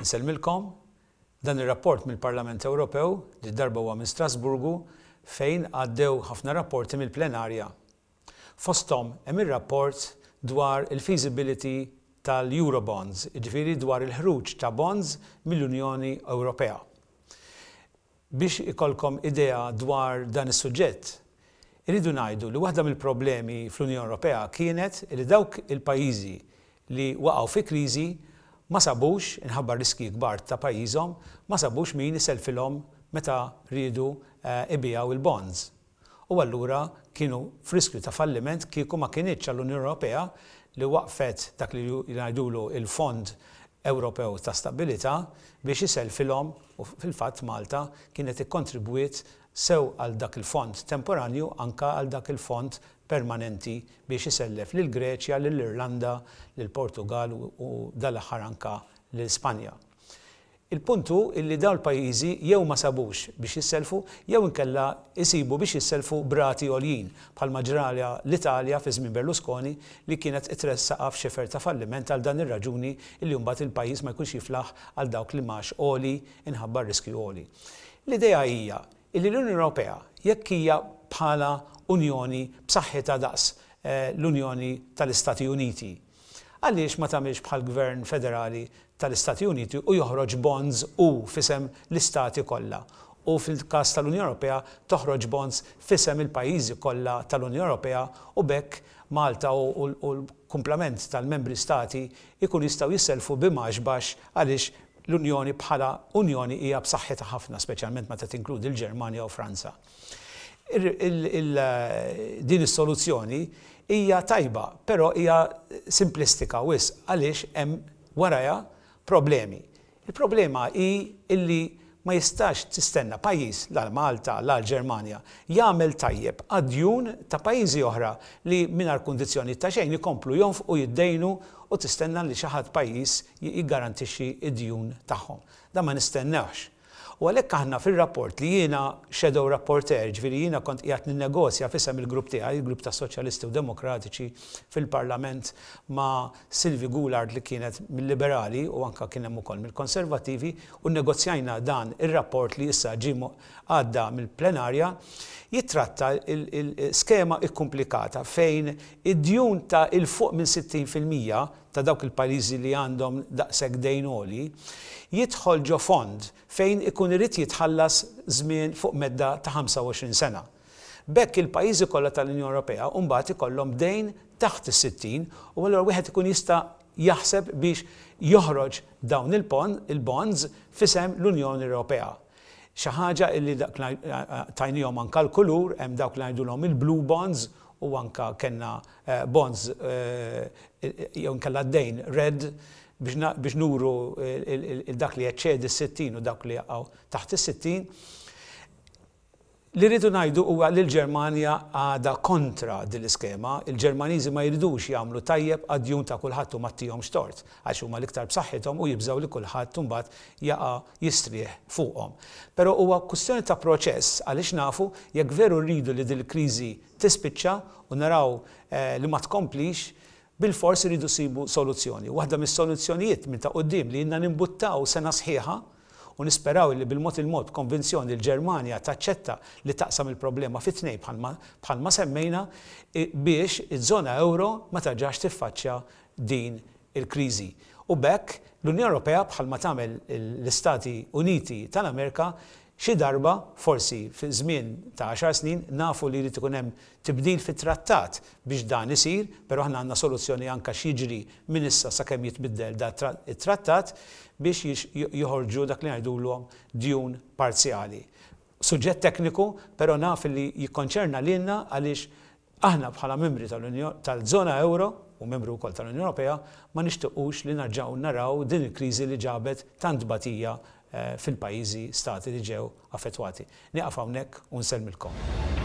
Insellmilkom. Dan ir-rapport mill-Parlament Ewropew, li darba huwa minn Strasburgu, fejn għaddew ħafna rapporti mill-plenarja. Fosthom hemm ir-rapport dwar il-feasibility tal-Eurobonds, jiġifieri dwar il-ħruġ ta' bonds mill-Unjoni Ewropea. Biex ikollkom idea dwar dan is-suġġett, irridu ngħidu li waħda mill-problemi fl-Unjoni Ewropea kienet li dawk il-pajjiżi li waqgħu fi kriżi ma sabux, inħabba r-riskji kbar ta' pajjiżhom, ma sabux min isellfilhom meta riedu ibigħu l-bonds. U allura kienu f'riskju ta' falliment kieku ma kinitx għall-Unjoni Ewropea li waqqfet dak li jgħidulu l-Fond Ewropew ta' Stabbilità biex isellfilhom u fil-fatt Malta kienet ikkontribwiet sew għal dak il-fond temporanju anke għal dak il-fond permanenti biex isellef lill-Greċja, lill-Irlanda, lill-Portugall u dal-aħħar anke lil Spanja. Il-punt hu illi dawn il-pajjiżi jew ma sabux biex jissellfu jew inkella jsibu biex jissellfu b'rati għoljin, bħalma ġralha l-Italja fi żmien Berlusconi li kienet tressaqha f'xifer ta' falliment għal dan ir-raġuni illi mbagħad il-pajjiż ma jkunx jiflaħ għal dawk l-imgħax għoli inħabba r-riskju għoli. L-idea hija illi l-Unjoni Ewropea jekk hija bħala Unjoni b'saħħitha daqs l-Unjoni tal-Istati Uniti, Għaliex ma tagħmilx bħall-gvern federali tal-Istati Uniti u joħroġ bonds hu f'isem l-istati kollha u fil-każ tal-Unjoni Ewropea toħroġ bonds f'isem il-pajjiżi kollha tal-Unjoni Ewropea u b'hekk Malta u l-kumplament tal-membri stati jkunu jistgħu jissellfu b'imgħax baxx għaliex l-Unjoni bħala Unjoni hija b'saħħitha ħafna speċjalment meta tinkludi l-Ġermanja u Franza. Din is-soluzzjoni hija tajba, però hija simplistika wisq għaliex hemm warajha problemi. Il-problema hi illi ma jistax tistenna pajjiż, la Malta, la l-Ġermanja, jagħmel tajjeb għad-djun ta' pajjiżi oħra li mingħajr kundizzjonijiet ta' xejn ikomplu jonfqu, jiddejnu u tistenna li xi ħadd pajjiż jiggarantixxi d-djun tagħhom. Dan ma nistennewhx. U għalhekk aħna fir-rapport li jiena shadow rapporteur, jiġifieri jiena kont qiegħed ninnegozja f'isem il-grupp tiegħi, il-grupp tas-Soċjalisti u Demokratiċi fil-Parlament ma' Sylvie Goulard li kienet mil-Liberali u anke kien hemm ukoll mill-Konservattivi u nnegozjajna dan ir-rapport li issa ġie għadda mill-plenarja, jittratta l-skema kkumplikata fejn id-djun ta' 'il fuq minn 60% ta' dawk il-pajjiżi li għandhom daqshekk dejn għoli, jidħol ġo fond fejn ikun irid jitħallas żmien fuq medda ta' 25 sena. B'hekk il-pajjiżi kollha tal-Unjoni Ewropea mbagħad ikollhom dejn taħt is-60 u allura wieħed ikun jista' jaħseb biex joħroġ dawn il-bonds f'isem l-Unjoni Ewropea. Xi ħaġa illi dak tajnihom anka l-kulur, hemm dawk li ngħidulhom il-blue bonds u anka kellna bonds jew inkella d-dejn red biex nuru dak li jeċċedi s-60 u dawk li jaqgħu taħt is-60. Li rridu ngħidu huwa li l-Ġermanja għadha kontra din l-iskema. Il-Ġermaniżi ma jridux jagħmlu tajjeb għad-djun ta' kulħadd u ma ttihomx tort, għax huma l-iktar b'saħħithom u jibżgħu li kulħadd imbagħad jaqa' jistrieħ fuqhom. Però huwa kwistjoni ta' proċess għaliex nafu jekk veru rridu li din il-kriżi tispiċċa u naraw li ma tkomplix, bilfors irridu nsibu soluzzjoni. Waħda mis-soluzzjonijiet minn ta' quddiem li ilna nimbuttaw sena sħiħa u nisperaw li bil-mod il-mod b'konvinzjoni l-Ġermanja taċċetta li taqsam il-problema fi tnejn bħalma bħalma semmejna biex iż-żona ewro ma terġax tiffaċċja din il-kriżi. U b'hekk l-Unjoni Ewropea bħalma tagħmel l-Istati Uniti tal-Amerika xi darba, forsi fi żmien ta' għaxar snin, nafu li jrid ikun hemm tibdil fit-trattat biex dan isir, però aħna għandna soluzzjoni anke x'jiġri minn issa sakemm jitbiddel da it-trattat biex joħorġu dak li ngħidulhom djun parzjali. Suġġett tekniku, però naf li jikkonċerna lilna għaliex aħna bħala membri tal-żona ewro u membri wkoll tal-Unjoni Ewropea ma nixtiqux li narġgħu naraw din il-kriżi li ġabet tant tbatija fil-pajjiżi stati li ġew affettwati. Nieqaf hawnhekk u nsellmilkom.